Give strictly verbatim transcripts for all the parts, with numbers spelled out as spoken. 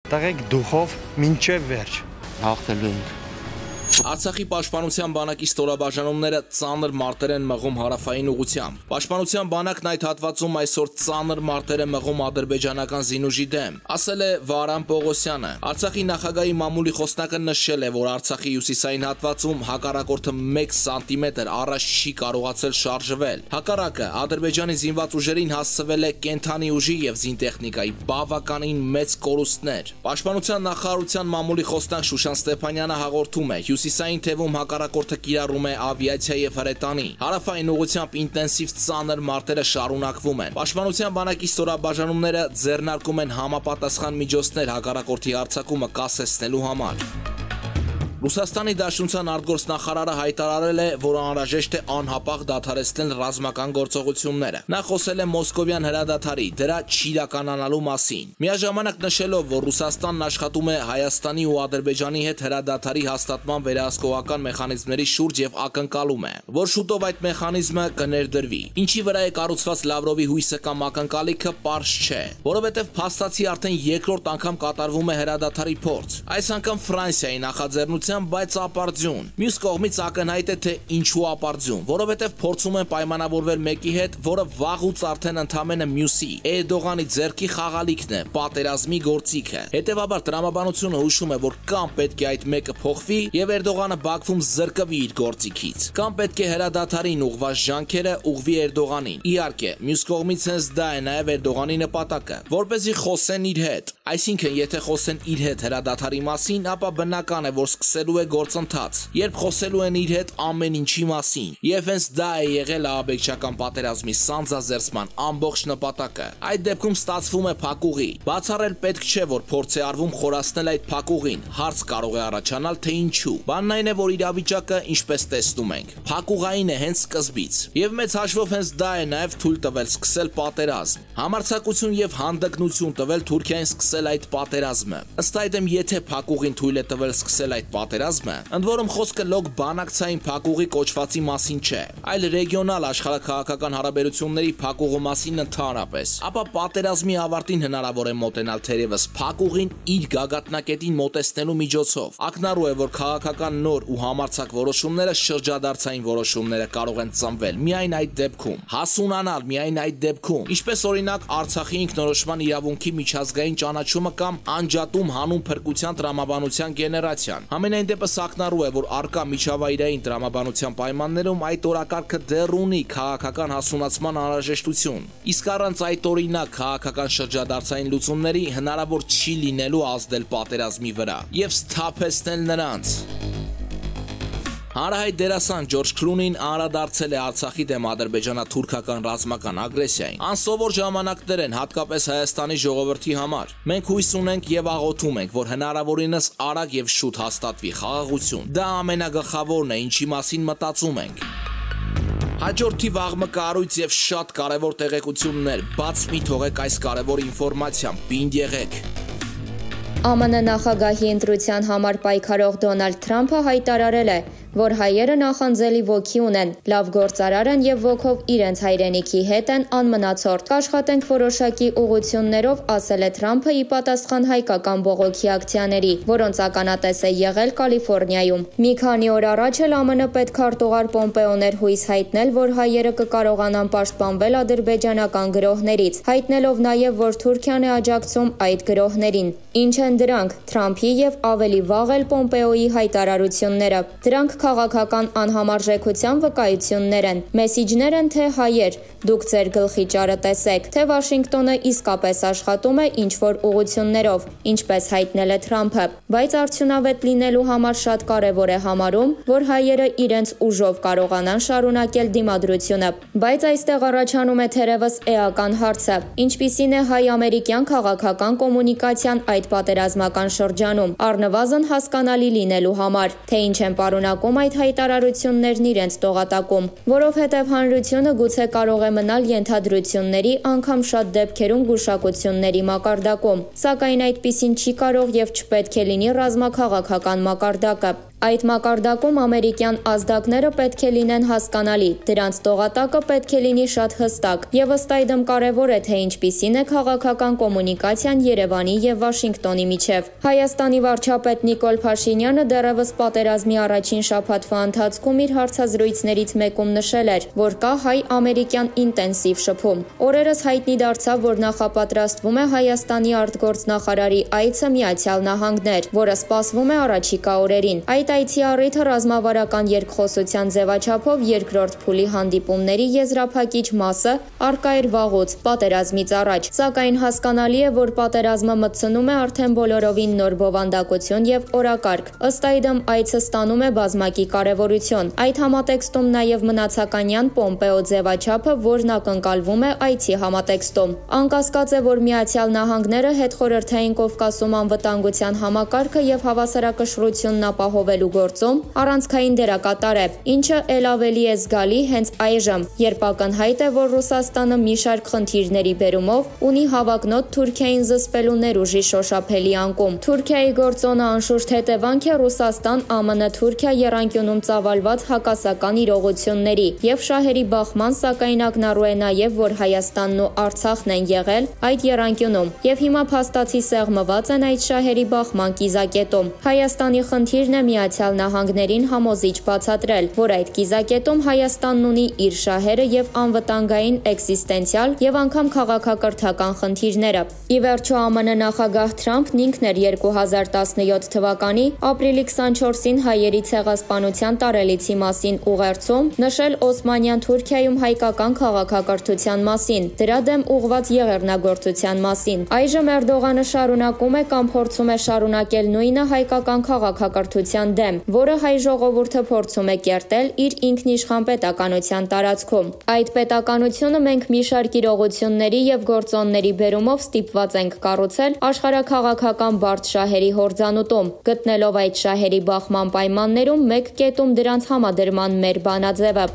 տղեկ դուխով մինչև վերջ հաղթելու ենք։ Արցախի պաշտպանության բանակի ստորաբաժանումները ծանր մարտեր են մղում հարավային ուղղությամբ։ Պաշտպանության բանակն այդ հատվածում այսօր ծանր մարտեր է մղում ադրբեջանական զինուժի դեմ, ասել է Վարան Պողոսյանը։ Արցախի նախագահի մամուլի խոսնակը նշել է, որ Արցախի հյուսիսային հատվածում հակառակորդը մեկ սանտիմետր առաջ չի կարողացել շարժվել։ Հակառակը Ադրբեջանի զինված ուժերին հասցվել է կենթանի ուժի եւ զինտեխնիկայի բավականին մեծ կորուստներ։ Պաշտպանության նախարարության մամուլի խոսնակ Շուշան Ստեփանյանը հաղորդում է, հյուսիսային թևում հակառակորդը կիրառում է ավիացիա եւ հրետանի։ Հարավային ուղղությամբ ինտենսիվ ծանր մարտերը շարունակվում են։ Պաշտպանության բանակի ստորաբաժանումները ձեռնարկում են համապատասխան միջոցներ հակառակորդի հարձակումը կասեցնելու համար։ Ռուսաստանի Դաշնության արտգործնախարարը հայտարարել է, որ անհրաժեշտ է անհապաղ դադարեցնել ռազմական գործողությունները։ Նա խոսել է Մոսկովյան հրադադարի, դրա չիրականանալու մասին։ Միաժամանակ նշելով, որ Ռուսաստանն աշխատում է Հայաստանի ու Ադրբեջանի հետ հրադադարի հաստատման վերահսկողական մեխանիզմների շուրջ եւ ակնկալում է, որ շուտով այդ մեխանիզմը կներդրվի։ Ինչի վրա է կառուցված Լավրովի հույսը կամ ակնկալիքը, պարզ չէ, որովհետեւ փաստացի արդեն երկրորդ անգամ կատարվում է հրադադարի փորձ։ Այս անգամ Ֆրանսիայի նախաձեռնությամբ բայց ապարդյուն։ Մյուս կողմից ակնհայտ է, թե ինչու ապարդյուն, որովհետև փորձում են պայմանավորվել մեկի հետ, որը վաղուց արդեն ընդամենը մյուսի Էրդողանի ձեռքի խաղալիքն է, պատերազմի գործիքը։ Հետևաբար տրամաբանությունը հուշում է, որ կամ պետք է այդ մեկը փոխվի եւ Էրդողանը Բաքվում զրկվի իր գործիքից, կամ պետք է հրադադարին ուղղված ջանքերը ուղղվի Էրդողանին։ Իհարկե, մյուս կողմից հենց դա է նաեւ Էրդողանի նպատակը, որպեսզի խոսեն իր հետ։ Այսինքն, եթե խոսեն իր հետ հրադադարի մասին, ապա բնական է, որ սկսելու է գործընթաց, երբ խոսելու են իր հետ ամեն ինչի մասին։ Եվ հենց դա է եղել ահաբեկչական պատերազմի սանձազերծման ամբողջ նպատակը։ Այդ դեպքում ստացվում է փակուղի։ Բացառել պետք չէ, որ փորձ է արվում խորացնել այդ փակուղին։ Հարց կարող է առաջանալ, թե ինչու։ Բանն այն է, որ իրավիճակը, ինչպես տեսնում ենք, փակուղային է հենց սկզբից։ Եվ մեծ հաշվով հենց դա է նաև թույլ տվել սկսել պատերազմ։ Համարձակություն եւ հանդգնություն տվել Թուրքիային սկսել այդ պատերազմը։ Ըստ այդմ, եթե փակուղին թույլ է տվել սկսել այդ պատերազմը, ընդ որում խոսքը լոկ բանակցային փակուղի կոչվածի մասին չէ, այլ ռեգիոնալ աշխարհաքաղաքական հարաբերությունների փակուղու մասին ընդհանրապես, ապա պատերազմի ավարտին հնարավոր է մոտենալ թերևս փակուղին իր գագաթնակետին մոտեցնելու միջոցով։ Ակնառու է, որ քաղաքական նոր ու համարձակ որոշումները շրջադարձային որոշումները կարող են ծնվել միայն այդ դեպքում, հասունանալ միայն այդ դեպքում, ինչպես օրինակ Արցախի ինքնորոշման իրավունքի միջազգային ճանաչումը կամ անջատում հանուն փրկության տրամաբանության գեներացիան։ Ամենայն դեպս ակնառու է, որ արկա միջավայրային տրամաբանության պայմաններում այդ օրակարգը դեռ ունի քաղաքական հասունացման անհրաժեշտություն։ Իսկ առանց այդ օրինակ քաղաքական շրջադարձային լուծումների հնարավոր չի լինելու ազդել պատերազմի վրա եւ սթափեցնել նրանց։ Հանրահայտ դերասան Ջորջ Քլունին անդրադարձել է Արցախի դեմ ադրբեջանա-թուրքական ռազմական ագրեսիային։ Անսովոր ժամանակներ են հատկապես Հայաստանի ժողովրդի համար։ Մենք հույս ունենք եւ աղոթում ենք, որ հնարավորինս արագ եւ շուտ հաստատվի խաղաղություն։ Դա ամենագլխավորն է, ինչի մասին մտածում ենք։ Հաջորդ թիվ աղմկահարույց եւ շատ կարեւոր տեղեկություններ, բաց մի թողեք այս կարեւոր ինֆորմացիան, պինդ եղեք։ Է Մը Ն նախագահի ընտրության համար պայքարող Դոնալդ Թրամփը հայտարարել է, որ հայերը նախանձելի ոգի ունեն, լավ գործարար են եւ ոգով իրենց հայրենիքի հետ են անմնացորդ։ Կաշխատենք որոշակի ուղղություններով, ասել է Թրամփը ի պատասխան հայկական բողոքի ակցիաների, որոնց ականատես է եղել Կալիֆոռնիայում։ Մի քանի օր առաջ էլ Է Մը Ն պետքարտուղար Պոմպեոն էր հույս հայտնել, որ հայերը կկարողանան պաշտպանվել ադրբեջանական գրոհներից, հայտնելով նաեւ, որ Թուրքիան է աջակցում այդ գրոհներին։ Ինչ են դրանք, Թրամփի եւ ավելի վաղ էլ Պոմպեոյի հայտարարությունները։ Դրանք քաղաքական անհամարժեքության վկայություններ են։ Մեսիջներ են, թե հայեր, դուք ձեր գլխի ճարը տեսեք, թե Վաշինգտոնը իսկապես աշխատում է ինչ-որ ուղղություններով, ինչպես հայտնել է Թրամփը, բայց արդյունավետ լինելու համար շատ կարևոր է համարում, որ հայերը իրենց ուժով կարողանան շարունակել դիմադրությունը։ Բայց այստեղ առաջանում է թերևս էական հարցը. ինչպիսին է հայ-ամերիկյան քաղաքական կոմունիկացիան այդ պատերազմական շրջանում, առնվազն հասկանալի լինելու համար, թե ինչ են պարունակում այդ հայտարարություններն իրենց տողատակում, որովհետև հանրությունը գուցե կարող է մնալ ենթադրությունների, անգամ շատ դեպքերում գուշակությունների մակարդակում, սակայն այդպիսին չի կարող եւ չպետք է լինի ռազմաքաղաքական մակարդակը։ Այդ մակարդակում ամերիկյան ազդակները պետք է լինեն հասկանալի, դրանց տողատակը պետք է լինի շատ հստակ, եւ ըստ այդմ կարեւոր է, թե ինչպիսին է քաղաքական կոմունիկացիան Երևանի եւ Վաշինգտոնի միջև։ Հայաստանի վարչապետ Նիկոլ Փաշինյանը դեռևս պատերազմի առաջին շաբաթվա ընթացքում իր հարցազրույցներից մեկում նշել էր, որ կա հայ-ամերիկյան ինտենսիվ շփում։ Օրերս հայտնի դարձավ, որ նախապատրաստվում է Հայաստանի արտգործնախարարի այցը Միացյալ Նահանգներ, որը սպասվում է առաջիկա օրերին։ Այդ այցի առիթը ռազմավարական երկխոսության ձևաչափով երկրորդ փուլի հանդիպումների եզրափակիչ մասը առկա էր վաղուց, պատերազմից առաջ, սակայն հասկանալի է, որ պատերազմը մտցնում է արդեն բոլորովին նոր բովանդակություն եւ օրակարգ։ Ըստ այդմ այցը ստանում է բազմակի կարեւորություն։ Այդ համատեքստում նաեւ մնացականյան Պոմպեո ձևաչափը, որն ակնկալվում է այցի համատեքստում։ Անկասկած է, որ Միացյալ Նահանգները հետխորհրդային Կովկասում անվտանգության համակարգը եւ հավասարակշռությունն ապահովել գործում առանցքային դերակատար է, ինչը ել ավելի է զգալի հենց այժմ, երբ ակնհայտ է, որ Ռուսաստանը մի շարք խնդիրների բերումով ունի հավակնոտ Թուրքիային զսպելու ներուժի շոշափելի անկում։ Թուրքիայի գործոնը անշուշտ հետևանք է Ռուսաստան-ԱՄՆ-Թուրքիա եռանկյունում ծավալված հակասական իրողությունների եւ շահերի բախման, սակայն ակնառու է նաեւ, որ Հայաստանն ու Արցախն են եղել այդ եռանկյունում եւ հիմա փաստացի սեղմված են այդ շահերի բախման կիզակետում։ Հայաստանի խնդիրն է Միացյալ Նահանգներին համոզիչ բացատրել, որ այդ կիզակետում Հայաստանն ունի իր շահերը եւ անվտանգային էքզիստենցիալ եւ անգամ քաղաքակրթական խնդիրները։ Ի վերջո ԱՄՆ նախագահ Թրամփն ինքն էր երկու հազար տասնյոթ թվականի ապրիլի քսանչորսին հայերի ցեղասպանության տարելիցի մասին ուղերձում նշել Օսմանյան Թուրքիայում հայկական քաղաքակրթության մասին, դրա դեմ ուղղված եղեռնագործության մասին։ Այժմ Էրդողանը շարունակում է կամ փորձում է շարունակել նույնը հայկական քաղաքակրթության դեմ, որը հայ ժողովուրդը փորձում է կերտել իր ինքնիշխան պետականության տարածքում։ Այդ պետականությունը մենք մի շարք իրողությունների եւ գործոնների բերումով ստիպված ենք կառուցել աշխարհաքաղաքական բարդ շահերի հորձանուտում, գտնելով այդ շահերի բախման պայմաններում մեկ կետում դրանց համադրման մեր բանաձևը։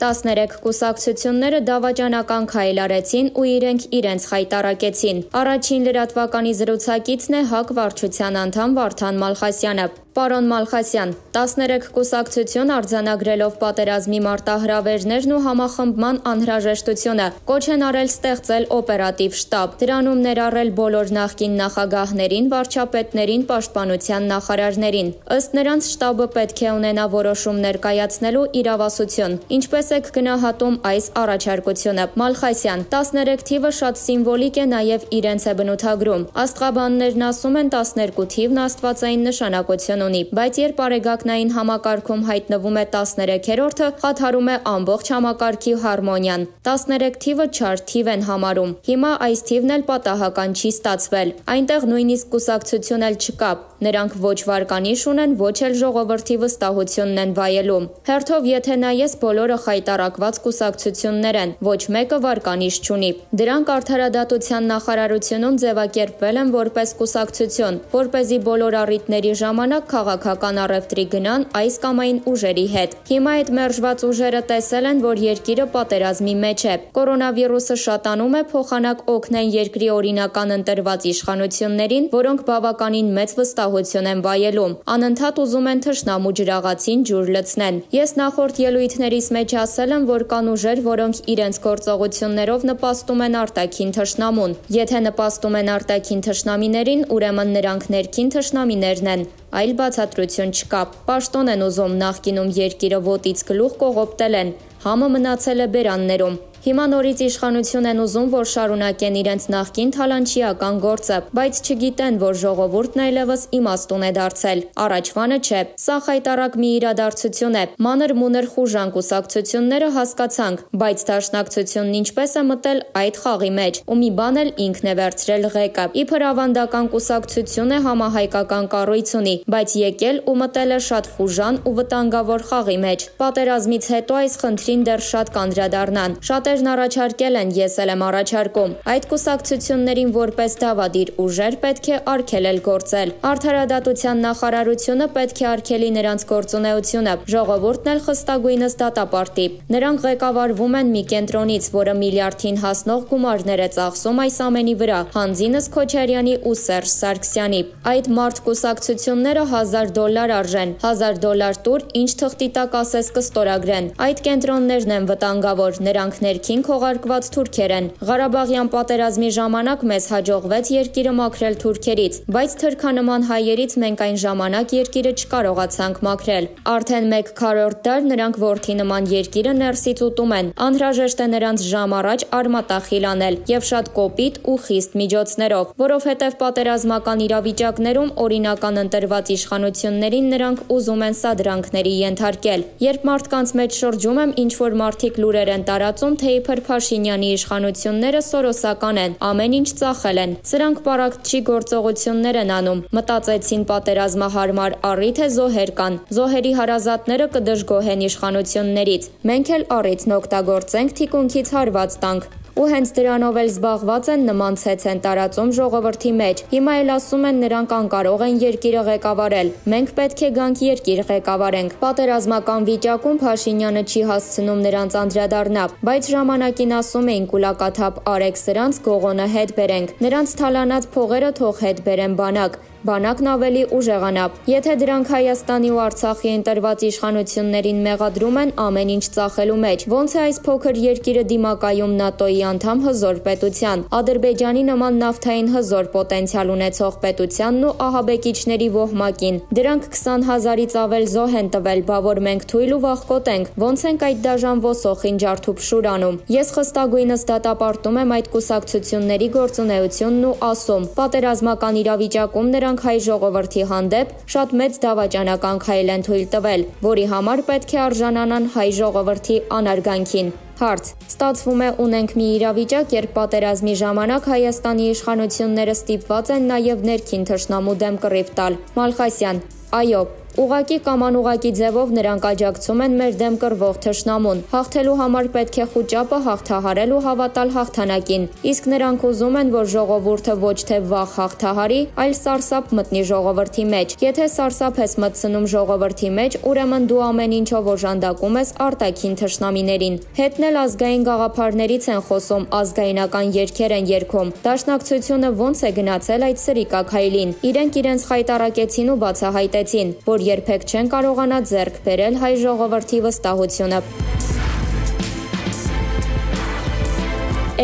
տասներեք կուսակցությունները դավաճանական քայլ արեցին ու իրենք իրենց խայտառակեցին։ Առաջին լրատվականի զրուցակիցն է ՀԱԿ վարչության անդամ Վարդան Մալխասյանը։ Պարոն Մալխասյան, տասներեք կուսակցություն արձանագրելով պատերազմի մարտահրավերներն ու համախմբման անհրաժեշտությունը կոչ են արել ստեղծել օպերատիվ շտաբ, դրանում ներառել բոլոր նախկին նախագահներին, վարչապետներին, պաշտպանության նախարարներին։ Ըստ նրանց շտաբը պետք է ունենա որոշումներ կայացնելու իրավասություն։ Ինչպես եք գնահատում այս առաջարկությունը։ Մալխասյան, տասներեք թիվը շատ սիմվոլիկ է, նաև իրենց է բնութագրում։ Աստղաբաններն ասում են տասներկու թիվն աստվածային նշանակություն ունի, բայց երբ արեգակնային համակարգում հայտնվում է տասներեքերորդը, խաթարում է ամբողջ համակարգի հարմոնիան։ տասներեք թիվը չար թիվ են համարում։ Հիմա այս թիվն էլ պատահական չի ստացվել։ Այնտեղ նույնիսկ կուսակցություն էլ չկա։ Նրանք ոչ վարկանիշ ունեն, ոչ էլ ժողովրդի վստահությունն են վայելում։ Հերթով եթե նայես, բոլորը խայտառակված կուսակցություններ են, ոչ մեկը վարկանիշ չունի։ Դրանք արդարադատության նախարարությունում ձևակերպվել են որպես կուսակցություն, որպեսզի բոլոր առիթների ժամանակ քաղաքական առևտրի գնան այս կամ այն ուժերի հետ։ Հիմա այդ մերժված ուժերը տեսել են, որ երկիրը պատերազմի մեջ է։ Կորոնավիրուսը շատանում է, փոխանակ օգնեն երկրի օրինական ընտրված իշխանություններին, որոնք բավականին մեծ վստահություն են վայելում։ Անընդհատ ուզում են թշնամու ջրաղացին ջուր լցնեն։ Ես նախորդ ելույթներիս մեջ ասել եմ, որ կան ուժեր, որոնք իրենց գործողություններով նպաստում են արտաքին թշնամուն։ Եթե նպաստում են արտաքին թշնամիներին, ուրեմն նրանք ներքին թշնամիներն են։ Այլ բացատրություն չկա։ Պաշտոն են ուզում, նախկինում երկիրը ոտից գլուխ կողոպտել են, համը մնացել է բերաններում։ Հիմա նորից իշխանություն են ուզում, որ շարունակեն իրենց նախկին թալանչիական գործը, բայց չգիտեն, որ ժողովուրդն այլևս իմաստուն է դարձել։ Առաջվանը չէ։ Սա խայտառակ մի իրադարձություն է։ Մանր-մունր խուժան կուսակցությունները հասկացանք, բայց դաշնակցությունն ինչպես է մտել այդ խաղի մեջ, ու մի բան էլ ինքն է վերցրել ղեկը։ Իբր ավանդական կուսակցություն է, համահայկական կառույց ունի, բայց եկել ու մտել է շատ խուժան ու վտանգավոր խաղի մեջ։ Պատերազմից հետո այս խնդրին դեռ շատ կանդրադառնան։ Շատ Շատերն առաջարկել են, ես էլ եմ առաջարկում։ Այդ կուսակցություններին որպես դավադիր ուժեր պետք է արգելել գործել։ Արդարադատության նախարարությունը պետք է արգելի նրանց գործունեությունը, ժողովուրդն էլ խստագույնս դատապարտի։ Նրանք ղեկավարվում են մի կենտրոնից, որը միլիարդին հասնող գումարներ է ծախսում այս ամենի վրա, Հանձինս Քոչարյանի ու Սերժ Սարգսյանի։ Այդ մարդ կուսակցությունները հազար դոլար արժեն, հազար դոլար տուր, ինչ թղթի տակ ասես կստորագրեն։ Այդ կենտրոններն են վտանգավոր, նրանք ներքին քողարկված թուրքեր են։ Ղարաբաղյան պատերազմի ժամանակ մեզ հաջողվեց երկիրը մաքրել թուրքերից, բայց թրքանման հայերից մենք այն ժամանակ երկիրը չկարողացանք մաքրել։ Արդեն մեկ քառորդ դար նրանք որդի նման երկիրը ներսից ուտում են։ Անհրաժեշտ է նրանց ժամ առաջ արմատախիլ անել եւ շատ կոպիտ ու խիստ միջոցներով, որովհետև պատերազմական իրավիճակներում օրինական ընտրված իշխանություններին նրանք ուզում են սադրանքների ենթարկել։ Երբ մարդկանց մեջ շրջում եմ, ինչ որ մարդիկ լուրեր են տարածում, թե իբր Փաշինյանի իշխանությունները սորոսական են, ամեն ինչ ծախել են։ Սրանք պարակտչի գործողություններ են անում։ Մտածեցին պատերազմահարմար առիթ է զոհեր կան։ Զոհերի հարազատները կդժգոհեն իշխանություններից։ Մենք էլ առիթն օգտագործենք թիկունքից հարված տանք։ Ու հենց դրանով էլ զբաղված են նման ցեց են տարածում ժողովրդի մեջ։ Հիմա էլ ասում են նրանք անկարող են երկիրը ղեկավարել։ Մենք պետք է գանք երկիր ղեկավարենք։ Պատերազմական վիճակում Փաշինյանը չի հասցնում նրանց անդրադառնա, բայց ժամանակին ասում էին կուլակաթափ արեք սրանց, Գողոնը հետ բերենք։ Նրանց թալանած փողերը թող հետ բերեն բանակ։ Բանակն ավելի ուժեղանա։ Եթե դրանք Հայաստանի ու Արցախի ընտրված իշխանություններին մեղադրում են ամեն ինչ ծախելու մեջ, ոնց է այս փոքր երկիրը դիմակայում ՆԱՏՕ-ի անդամ հզոր պետության, Ադրբեջանի նման նավթային հզոր պոտենցիալ ունեցող պետությանն ու ահաբեկիչների ոհմակին։ Դրանք քսան հազարից ավել զոհ են տվել, բա որ մենք թույլ ու վախկոտ ենք, ոնց ենք այդ դաժան ոսոխին ջարդուփշուր անում։ Ես խստագույնս դատապարտում եմ այդ կուսակցությունների գործունեությունն ու ասում, պատերազմական իրավիճակում նրանք հայ ժողովրդի հանդեպ շատ մեծ դավաճանական քայլ են թույլ տվել, որի համար պետք է արժանանան հայ ժողովրդի անարգանքին։ Հարց. Ստացվում է ունենք մի իրավիճակ, երբ պատերազմի ժամանակ Հայաստանի իշխանությունները ստիպված են նաև ներքին թշնամու դեմ կռիվ տալ։ Մալխասյան. Այո, ուղղակի կամ անուղղակի ձևով նրանք աջակցում են մեր դեմ կռվող թշնամուն։ Հաղթելու համար պետք է խուճապը հաղթահարել ու հավատալ հաղթանակին։ Իսկ նրանք ուզում են, որ ժողովուրդը ոչ թե վախ հաղթահարի, այլ սարսափ մտնի ժողովրդի մեջ։ Եթե սարսափ ես մտցնում ժողովրդի մեջ, ուրեմն դու ամեն ինչով օժանդակում ես արտաքին թշնամիներին։ Հետն էլ ազգային գաղափարներից են խոսում, ազգայնական երգեր են երգում։ Դաշնակցությունը ոնց է գնացել այդ սրիկաքայլին։ Իրենք իրենց խայտարակեցին ու բացահայտեցին, որ երբեք չեն կարողանա ձեռք բերել հայ ժողովրդի վստահությունը։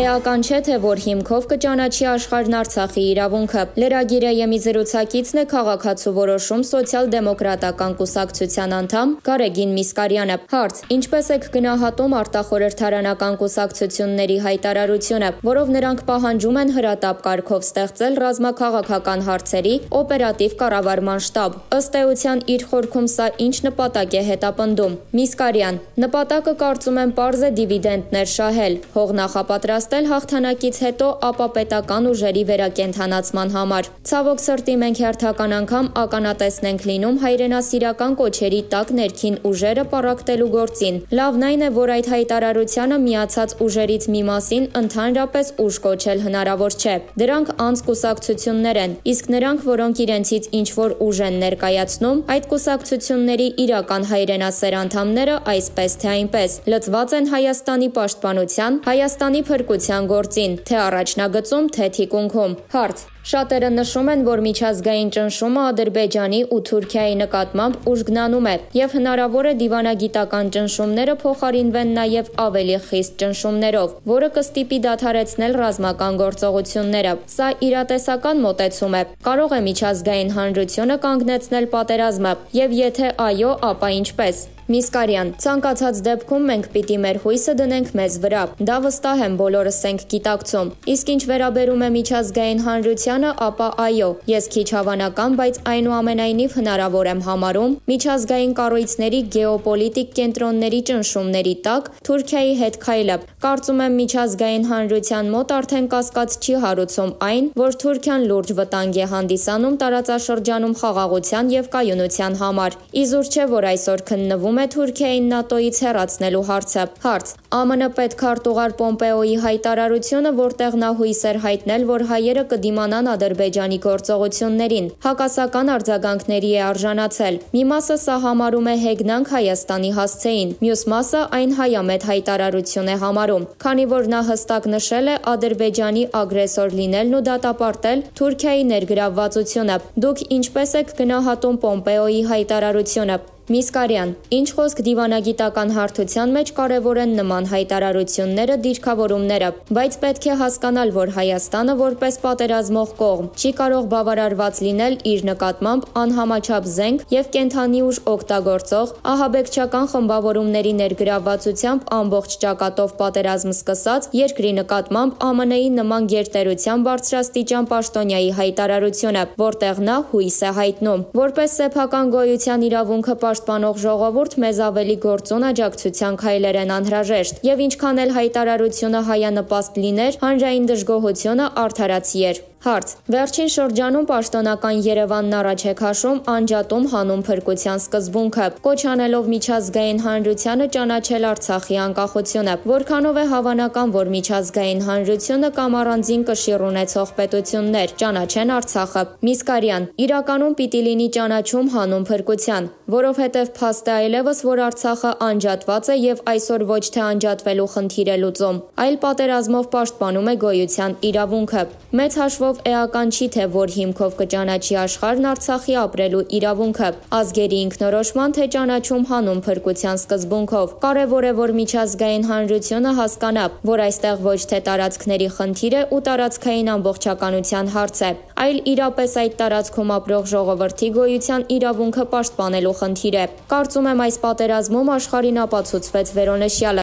Էական չէ, թե որ հիմքով կճանաչի աշխարհն Արցախի իրավունքը։ Լրագիրը ԵՄ զրուցակիցն է քաղաքացու որոշում սոցիալ-դեմոկրատական կուսակցության անդամ Գարեգին Միսկարյանը։ Հարց. Ինչպես եք գնահատում արտախորհրդարանական կուսակցությունների հայտարարությունը, որով նրանք պահանջում են հրատապ կարգով ստեղծել ռազմաքաղաքական հարցերի օպերատիվ կառավարման շտաբ։ Ըստ էության իր խորքում սա ինչ նպատակ է հետապնդում։ Միսկարյան. Նպատակը կարծում եմ պարզ է դիվիդենտներ շահել, հող նախապատրաստել հաղթանակից հետո ապա պետական ուժերի վերակենդանացման համար։ Ցավոք սրտի մենք հերթական անգամ ականատեսն ենք լինում հայրենասիրական կոչերի տակ ներքին ուժերը պառակտելու գործին։ Լավն այն է, որ այդ հայտարարությանը միացած ուժերից մի մասին ընդհանրապես ուժ կոչել հնարավոր չէ։ Դրանք անց կուսակցություններ են, իսկ նրանք, որոնք իրենցից ինչ-որ ուժ են ներկայացնում, այդ կուսակցությունների իրական հայրենասեր անդամները այսպես թե այնպես լծված են Հայաստանի պաշտպանության, Հայաստանի փրկության գործին, թե առաջնագծում, թե թիկունքում։ Հարց. Շատերը նշում են, որ միջազգային ճնշումը Ադրբեջանի ու Թուրքիայի նկատմամբ ուժգնանում է, եւ հնարավոր է դիվանագիտական ճնշումները փոխարինվեն նաեւ ավելի խիստ ճնշումներով, որը կստիպի դադարեցնել ռազմական գործողությունները։ Սա իրատեսական մոտեցում է։ Կարող է միջազգային հանրությունը կանգնեցնել պատերազմը, եւ եթե այո, ապա ինչպես։ Միսկարյան. Ցանկացած դեպքում մենք պիտի մեր հույսը դնենք մեզ վրա։ Դա վստահ եմ բոլորս ենք գիտակցում։ Իսկ ինչ վերաբերում է միջազգային հանրությանը, ապա այո, ես քիչ հավանական, բայց այնուամենայնիվ հնարավոր եմ համարում միջազգային կառույցների գեոպոլիտիկ կենտրոնների ճնշումների տակ Թուրքիայի հետ քայլը։ Կարծում եմ միջազգային հանրության մոտ արդեն կասկած չի հարուցում այն, որ Թուրքիան լուրջ վտանգ է հանդիսանում տարածաշրջանում խաղաղության եւ կայունության համար։ Իզուր չէ, որ այսօր քննվում է Թուրքիային ՆԱՏՕ-ից հեռացնելու հարցը։ Հարց. Է Մ Ն պետքարտուղար Պոմպեոյի հայտարարությունը, որտեղ նա հույս էր հայտնել, որ հայերը կդիմանան Ադրբեջանի գործողություններին, հակասական արձագանքների է արժանացել։ Մի մասը սա համարում է հեգնանք Հայաստանի հասցեին, մյուս մասը այն հայամետ հայտարարություն է համարում, քանի որ նա հստակ նշել է Ադրբեջանի ագրեսոր լինելն ու դատապարտել Թուրքիայի ներգրավվածությունը։ Դուք ինչպես եք գնահատում Պոմպեոյի հայտարարությունը։ Միսկարյան. Ինչ խոսք դիվանագիտական հարթության մեջ կարևոր են նման հայտարարությունները, դիրքավորումները, բայց պետք է հասկանալ, որ Հայաստանը որպես պատերազմող կողմ չի կարող բավարարված լինել իր նկատմամբ անհամաչափ զենք եւ կենթանի ուժ օգտագործող ահաբեկչական խմբավորումների ներգրավվածությամբ ամբողջ ճակատով պատերազմ սկսած երկրի նկատմամբ Ա Մ Ն-ի նման գերտերության բարձրաստիճան պաշտոնյայի հայտարարությունը, որտեղ նա հույս է հայտնում, որպես սեփական գոյության իրավունքը պաշտպանող ժողովուրդ մեզ ավելի գործուն աջակցության քայլեր են անհրաժեշտ, եւ ինչքան էլ հայտարարությունը հայանպաստ լիներ, հանրային դժգոհությունը արդարացի էր։ Հարց. Վերջին շրջանում պաշտոնական Երևանն առաջ է քաշում անջատում հանուն փրկության սկզբունքը, կոչ անելով միջազգային հանրությանը ճանաչել Արցախի անկախությունը, որքանով է հավանական, որ միջազգային հանրությունը կամ առանձին կշիռ ունեցող պետություններ ճանաչեն Արցախը։ Միսկարյան. Իրականում պիտի լինի ճանաչում հանուն փրկության, որովհետև փաստ է այլևս, որ Արցախը անջատված է եւ այսօր ոչ թե անջատվելու խնդիր է լուծում, այլ պատերազմով պաշտպանում է գոյության իրավունքը։ Մեծ հաշվով էական չի, թե որ հիմքով կճանաչի աշխարհն Արցախի ապրելու իրավունքը, ազգերի ինքնորոշման թե ճանաչում հանուն փրկության սկզբունքով։ Կարևոր է, որ միջազգային հանրությունը հասկանա, որ այստեղ ոչ թե տարածքների խնդիր է ու տարածքային ամբողջականության հարց է, այլ իրապես այդ տարածքում ապրող ժողովրդի գոյության իրավունքը պաշտպանելու խնդիր է։ Կարծում եմ այս պատերազմում աշխարհին ապացուցվեց վերոնշյալը։